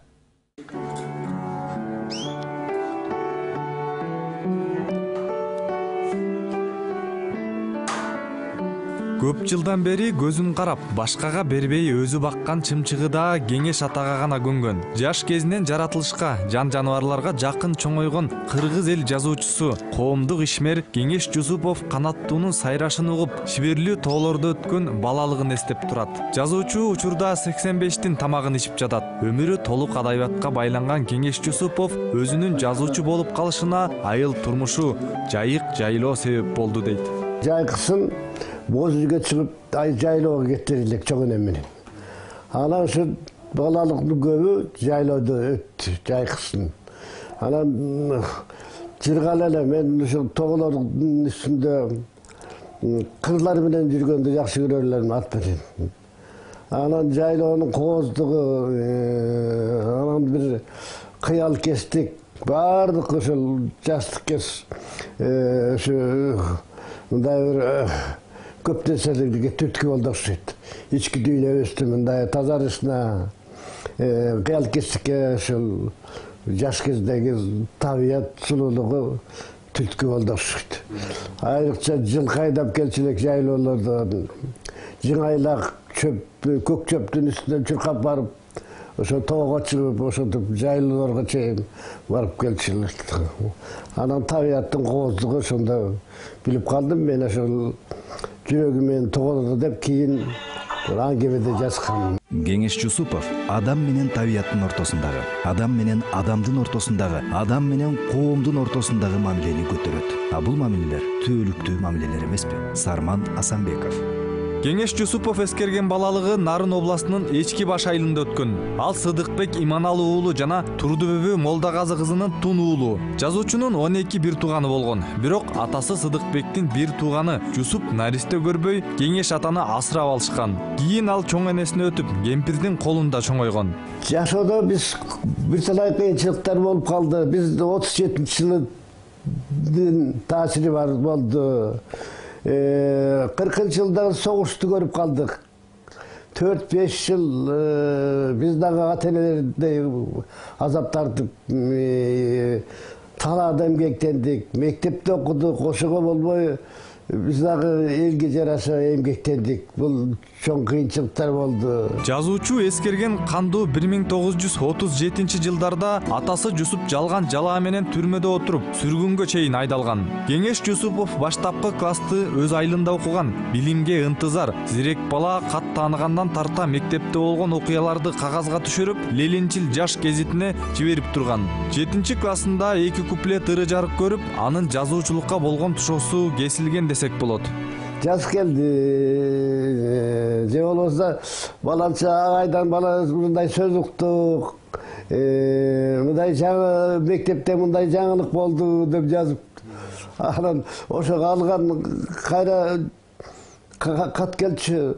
Көп жылдан бери көзүн карап, башкага бербей өзү баккан чымчыгы да Кеңеш атага гана көнгөн. Жаш кезинен жаратылышка, жан жаныбарларга жакын чоңойгон кыргыз эл жазуучусу, коомдук ишмер Кеңеш Жусупов канаттуунун сайрашын угуп, шиберлүү тоолордо өткөн балалыгын эстеп турат. Жазуучу учурда сексен бештин тамагын ичип жатат. Өмүрү толук адабиятка байланган Кеңеш Жусупов өзүнүн жазуучу болуп калышына айыл турмушу, жайык жайлоо себеп болду дейт. Жайкысын боз үйгө чыгып, ай жайлоого кетти элек чоң энем менен. Анан ушу балалыктын көбү жайлоодо өттү, жайкысын. Анан жыргала эле мен ушу тоголордун үстүндө кырлар менен жүргөндү жакшы көрөр элем ат менен. Анан жайлоонун кооздугу, анан бир кыял кестик, баардык ошол жастык кес, ушу мындай бир көп нерселерге түрткү болду окшойт. Ички дүйнөбүздү мындай тазарышына, кыял кестикке ошол жаш кездеги табият сулуулугу түрткү болду окшойт. Айрыкча жылкы айдап келчү элек жайлоолордон жыңайлак чөп, көк чөптүн үстүнөн чуркап барып, ошо тоого чыгып, ошентип жайлоолорго чейин барып келчү элек. Анан табияттын кооздугу ошондо билип калдым мен, ошол жүрөгүмөн тоголду деп кийин аңгемеде жазгам. Кеңеш Жусупов адам менен табияттын ортосундагы, адам менен адамдын ортосундагы, адам менен коомдун ортосундагы мамилени көтөрөт. А бул мамилелер түбөлүктүү мамилелер эмеспи? Сарман Асанбеков. Кеңеш Жусупов эскерген балалыгы Нарын областынын Эчки Баш айылында өткөн. Ал Сыдыкбек Иманалы уулу жана Турдубүбү Молдагазы кызынын Тун уулу. Жазуучунун он эки бир тууганы болгон. Бирок атасы Сыдыкбектин бир тууганы Жусуп наристе көрбөй, Кеңеш атаны асырап алышкан. Кийин ал чоң энесине өтүп, кемпирдин колунда чоңойгон. Жашоодо биз бир талай кыйынчылыктар болуп калды. Биз отуз жетинчи жылдын таасири бар болду. кыркынчы жылдагы согушту көрүп калдык. төрт беш жыл биз дагы ата энелердей азап тартып, талаада эмгектендик, мектепте окудук, ошого болбой биз дагы элге жараша эмгектендик. Бул чоң кыйынчылыктар болду. Жазуучу эскерген кандуу бир миң тогуз жүз отуз жетинчи жылдарда атасы Жусуп жалган жалаа менен түрмөдө отуруп, сүргүнгө чейин айдалган. Кеңеш Жусупов баштапкы классты өз айылында окуган, билимге ынтызар, зирек бала, кат тааныгандан тарта мектепте болгон окуяларды кагазга түшүрүп, Ленинчил жаш гезитине жиберип турган. жетинчи классында эки куплет ыры жарык көрүп, анын жазуучулукка болгон тушоосу кесилген десек болот. Жаз келди, же болбосо баланча агайдан бала мындай сөз уктук, мындай жаңы мектепте мындай жаңылык болду деп жазып, анан ошого алган кайра кат келчү,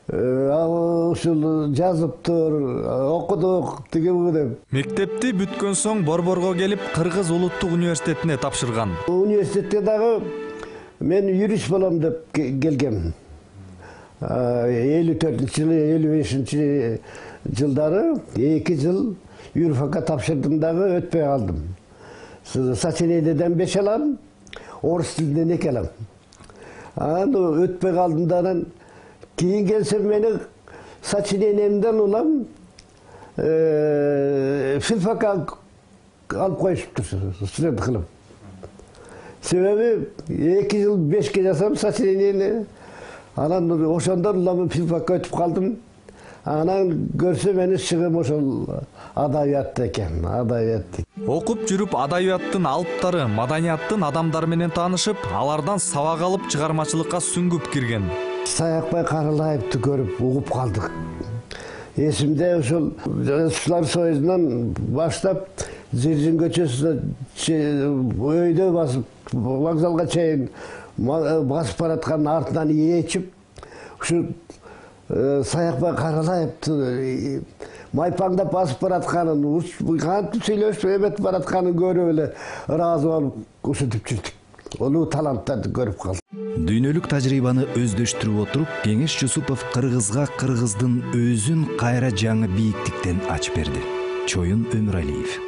ушул жазыптыр, окудук тиги бу деп. Мектепти бүткөн соң Борборго келип, Кыргыз улуттук университетине тапшырган. Университетте дагы мен юрист болом деп келгем. элүү төртүнчү жылы, элүү бешинчи жылдары эки жыл юрфакка тапшырдым дагы өтпөй калдым. Сочинениеден беш алам, орус тилинен эки алам. Анан өтпөй калдым да, анан кийин келсем мени сочинениемден улам филфакка алып коюшуптур, студент кылып. Себеби эки жыл бешке жасам сочинениени, анан ошондон улам филфакка өтүп калдым. Анан көрсө мени чыгым ошол адабиятта экен, адабият. Окуп жүрүп адабияттын алыптары, маданияттын адамдары менен таанышып, алардан сабак алып чыгармачылыкка сүңгүп кирген. Саякбай Каралаевди көрүп угуп калдык. Эсимде ошол Жазуучулар союзунан баштап Зиржин көчөсүнө өйдө басып, вокзалга чейин басып бараткан артынан ээчип, ушу Саякбай Каралаевди майпаңдап басып баратканын, кантип сүйлөшүп эметип баратканын көрүп эле ыраазы болуп ушинтип жүрдүк. Улуу таланттарды көрүп калдык. Дүйнөлүк тажрыйбаны өздөштүрүп отуруп, Кеңеш Жусупов кыргызга кыргыздын өзүн кайра жаңы бийиктиктен ачып берди. Чоюн Өмүралиев.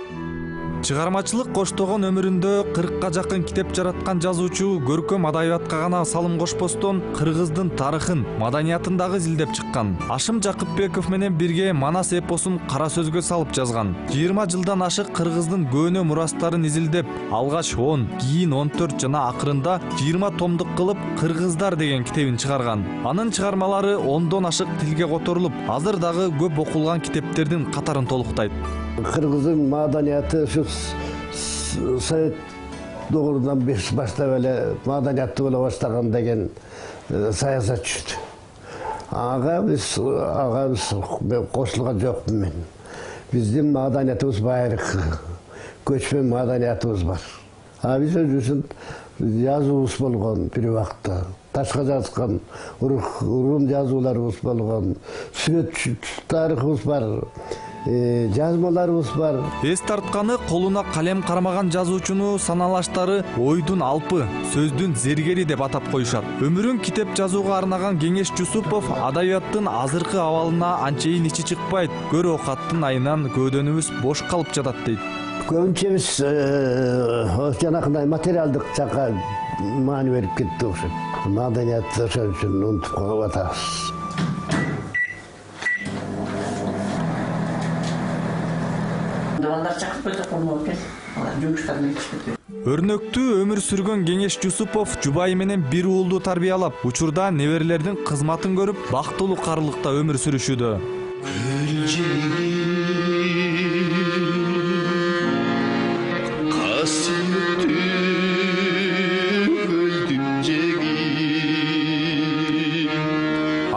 Чыгармачылык коштогон өмүрүндө кыркка жакын китеп жараткан жазуучу көркөм адабиятка гана салым кошпостон кыргыздын тарыхын, маданиятын дагы изилдеп чыккан. Ашым Жакыпбеков менен бирге Манас эпосун кара сөзгө салып жазган. жыйырма жылдан ашык кыргыздын көөнө мурастарын изилдеп, алгач он, кийин он төрт жана акырында жыйырма томдук кылып Кыргыздар деген китебин чыгарган. Анын чыгармалары ондон ашык тилге которулуп, азыр дагы көп окулган китептердин катарын толуктайт. Кыргыздын маданияты ушу Совет догурунан баштап эле маданияттуу боло баштаган деген саясатчы. Ага биз ага биз кошулган жокмун мен. Биздин маданиятыбыз байыркы, көчмөн маданиятыбыз бар. А биз өзүбүздүн жазуубуз болгон бир убакта. Ташка жазган урун жазууларыбыз болгон, сүрөт тарыхыбыз бар, жазмаларыбыз бар. Эс тартканы колуна калем кармаган жазуучуну саналаштары ойдун алпы, сөздүн зергери деп атап коюшат. Өмүрүн китеп жазууга арнаган Кеңеш Жусупов адабияттын азыркы абалына анчейин ичи чыкпайт, көр оокаттын айынан көөдөнүбүз бош калып жатат дейт. Көбүнчө биз жанакындай материалдык жакка маани берип кетти окшойт. Маданиятты ошон үчүн унутуп калып атабыз. Балдар чакырып койдук болмок экен. Алар жумуштарын кетишти. Өрнөктүү өмүр сүргөн Кеңеш Жусупов жубайы менен бир уулду тарбиялап, учурда неберелердин кызматын көрүп, бактылуу карылыкта өмүр сүрүшүүдө.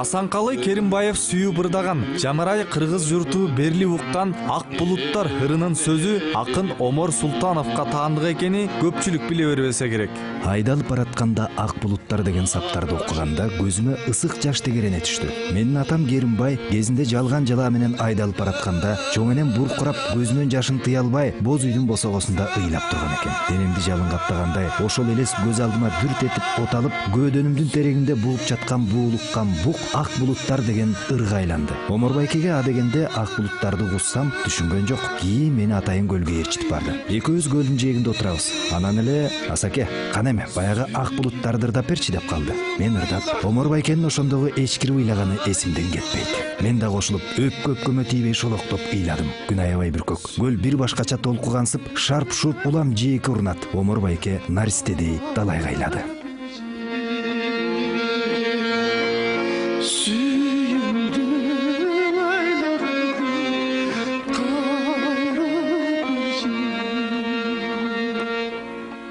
Асанкалы Керимбаев сүйүү бырдаган, жамырай кыргыз журту берли уккан Ак булуттар ырынын сөзү акын Омор Султановго таандык экени көпчүлүк биле бербесе керек. Айдалып баратканда ак булуттар деген саптарды окуганда көзүмө ысык жаш тегерене түштү. Менин атам Керимбай кезинде жалган жала менен айдалып баратканда чоң энем буркурап көзүнөн жашын тыя албай боз үйдүн босогосунда ыйлап турган экен. Денемди жалын каптагандай ошол элес көз алдыма дүрт этип оталып, көөдөнүмдүн терегинде бууп жаткан буулуккан бук ак булуттар деген ырга айланды. Омор байкеге а дегенде ак булуттарды угуссам түшүнгөн жок. Кийин мени атайын көлгө ээрчитип барды. Экөөбүз көлдүн жээгинде отурабыз. Анан эле Асаке, кана эме баягы ак булуттарды ырдап берчи деп калды. Мен ырдап, Омор байкенин ошондогу эчкирип ыйлаганы эсимден кетпейт. Мен да кошулуп, өпкө өпкөмө тийбей шолоктоп ыйладым. Күн аябай бүркөк. Көл бир башкача толкугансып, шарп-шурп улам жээкке урунат. Омор байке наристедей далайга ыйлады.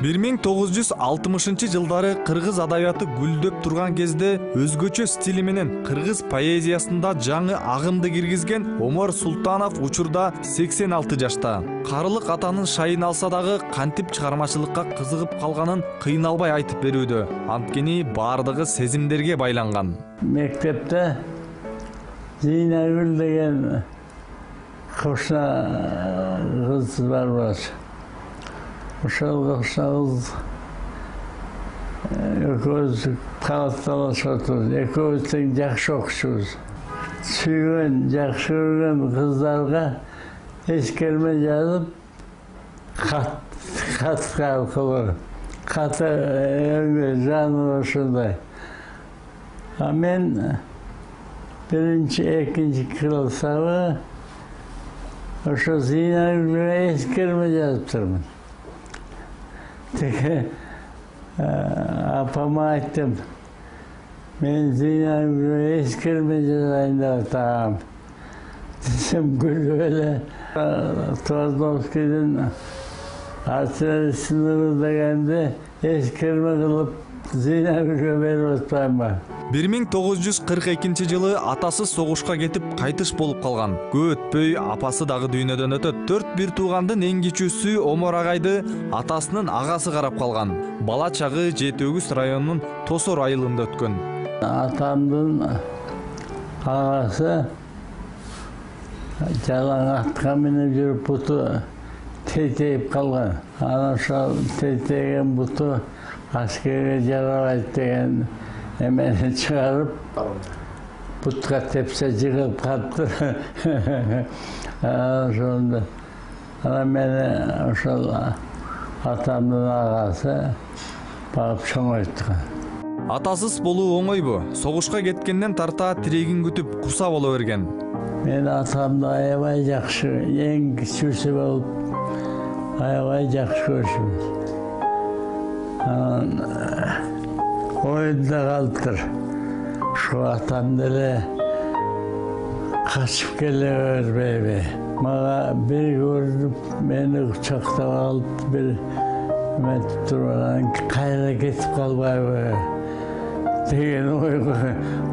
бир миң тогуз жүз алтымышынчы жылдары кыргыз адабияты гүлдөп турган кезде өзгөчө стили менен кыргыз поэзиясында жаңы агымды киргизген Омор Султанов учурда сексен алты жашта. Карылык атанын шайын алса дагы кантип чыгармачылыкка кызыгып калганын кыйналбай айтып берүүдө. Анткени баардыгы сезимдерге байланган. Мектепте Зейнагүл деген кошна кыз бар бар. Ошол кыз экөөбүз кабатталышып отурбуз. Экөөбүз тең жакшы окучубуз. Сүйгөн, жакшы көргөн кыздарга эскерме жазып, кат катка кылып, каты жаныбы ошондой. А мен биринчи, экинчи класстагы ошо Зейнагүлгө эскерме жазып турмун. Теге апама айттым, мен Зейнагүлгө эскерме жазайын деп атам. Десем күлүп эле Твардовскийдин артиллерия сыныбы дегенде эскерме кылып Зейнагүлгө берип атпайбы? бир миң тогуз жүз кырк экинчи жылы атасы согушка кетип кайтыш болуп калган. Көп өтпөй апасы дагы дүйнөдөн өтөт. Төрт бир туугандын эң кичүүсү Омор агайды атасынын агасы карап калган. Бала чагы Жети Өгүз районунун Тосор айылында өткөн. Атамдын агасы жалаң атка менеп жүрүп буту тетейип калган. Анан ошол тетейген буту аскерге жарабайт деген эмени чыгарып, бутка тепсе жыгылып калыптыр. Ошондо Ана мени ошол атамдын агасы багып чоңойткан. Атасыз болуу оңойбу? Согушка кеткенден тарта тирегин күтүп курса боло берген. Мен атамды аябай жакшы, эң кичүүсү болуп аябай жакшы көрүшүбүз. Анан оюнда калыптыр. Şu atam деле качып келе бербейби. Мага бир көрүнүп, мени кучактап алып, бир эметип турган, кайра кетип калбайбы деген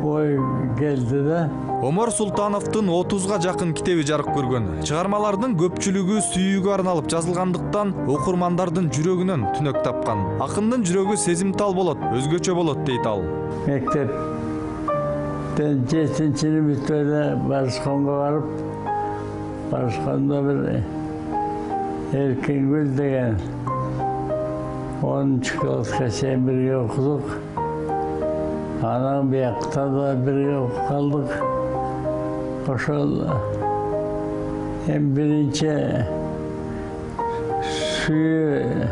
ой келди да. Омар Султановдун отузга жакын китеби жарык көргөн. Чыгармалардын көпчүлүгү сүйүүгө арналып жазылгандыктан окурмандардын жүрөгүнөн түнөк тапкан. Акындын жүрөгү сезимтал болот, өзгөчө болот дейт ал. Мектептен жетинчини бүтөдө Барышконго барып, Барышкондо бир Эркингүл деген онунчу класска чейин бирге окудук. Анан биякта да бирге окуп калдык. Ошол эң биринчи сүйүү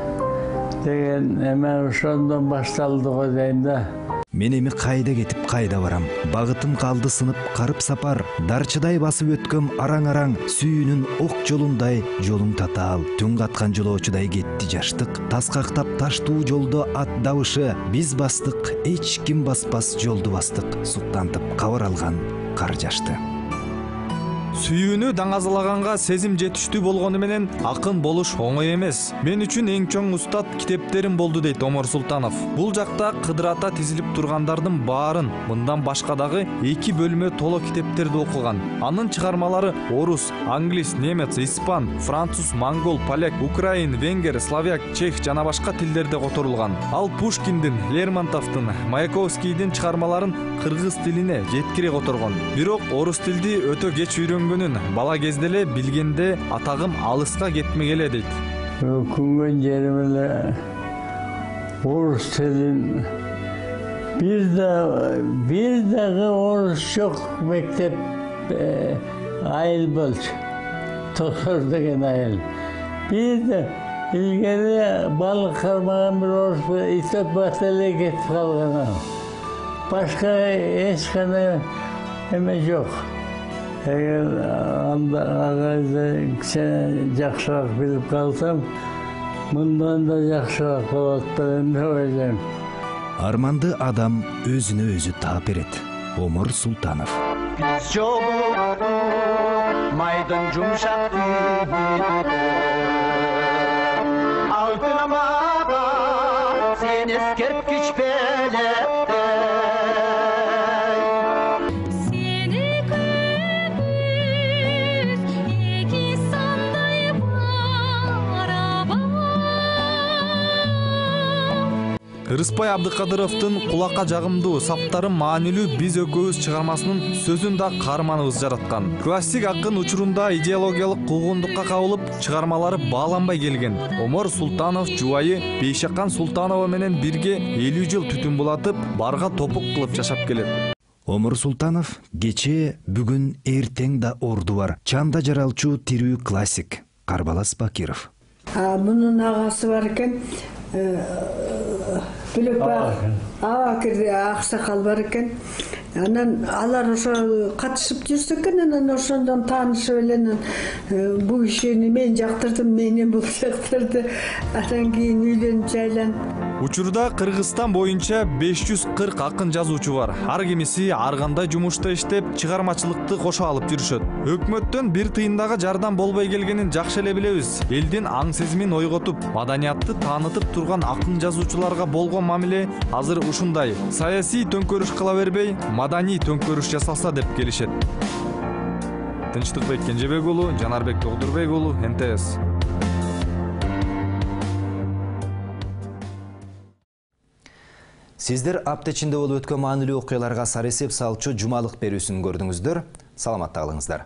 деген эме ошондон башталды го дейм да. Мен эми кайда кетип кайда барам? Багытым калды сынып карып сапар. Дарчыдай басып өткөм араң-араң, сүйүүнүн ок жолундай жолуң татаал. Түн каткан жолоочудай кетти жаштык. Таскактап таштуу жолдо ат дабышы. Биз бастык, эч ким баспас жолду бастык. Суктантып кабар алган кар жашты. Сүйүүнү даңазалаганга сезим жетиштүү болгону менен акын болуш оңой эмес. Мен үчүн эң чоң устат китептерим болду дейт Омар Султанов. Бул жакта кыдырата тизилип тургандардын баарын, мындан башка дагы эки бөлмө толо китептерди окуган. Анын чыгармалары орус, англис, немец, испан, француз, монгол, поляк, украин, венгер, словак, чех жана башка тилдерде которулган. Ал Пушкиндин, Лермонтовдун, Маяковскийдин чыгармаларын кыргыз тилине жеткире которгон. Бирок орус тилди өтө кеч үйрөнгөн. Бала кезде эле билгенде атагым алыска кетмегеле дейт. Өкүнгөн жерим эле орус тилин бир да бир дагы орус жок мектеп айыл болчу. Токор деген айыл. Бир да илгери балык кармаган бир орус итеп бат эле кетип калган. Башка эч кандай эме жок. Эгер анда агайды кичине жакшыраак билип калсам, мындан да жакшыраак болот деп ойлойм. Арманды адам өзүнө өзү таап берет. Омар Султанов. Биз жолуктук майдын жумшак тийип, алтынамага сен эскерткич белепте. Рыспай Абдыкадыровдун кулакка жагымдуу, саптары маанилүү биз экөөбүз чыгармасынын сөзүн да каарманыбыз жараткан. Классик акын учурунда идеологиялык куугундукка кабылып, чыгармалары бааланбай келген. Омар Султанов жубайы Бейшакан Султанова менен бирге элүү жыл түтүн булатып, барга топук кылып жашап келет. Омар Султанов кечээ, бүгүн, эртең да орду бар. Чанда жаралчу тирүү классик Карбалас Бакиров. Мунун агасы бар экен. Бүлөк Абакир аксакал бар экен. Анан алар ошо катышып жүрсө экен, анан ошондон таанышып эле бул кишини мен жактырдым, мени бул жактырды. Анан кийин үйлөнүп жайланып. Учурда Кыргызстан боюнча беш жүз кырк акын жазуучу бар. Ар кимиси ар кандай жумушта иштеп, чыгармачылыкты кошо алып жүрүшөт. Өкмөттөн бир тыйындагы жардам болбой келгенин жакшы эле билебиз. Элдин аң сезимин ойготуп, маданиятты таанытып турган акын жазуучуларга болгон мамиле азыр ушундай. Саясий төңкөрүш кыла бербей, маданий төңкөрүш жасалса деп келишет. Тынчтыкбек Кенжебек уулу, Жанарбек Тогдурбек уулу, Н Т С. Сиздер апта ичинде болуп өткөн маанилүү окуяларга сар эсеп салчу жумалык берүүсүн көрдүңүздөр. Саламатта калыңыздар.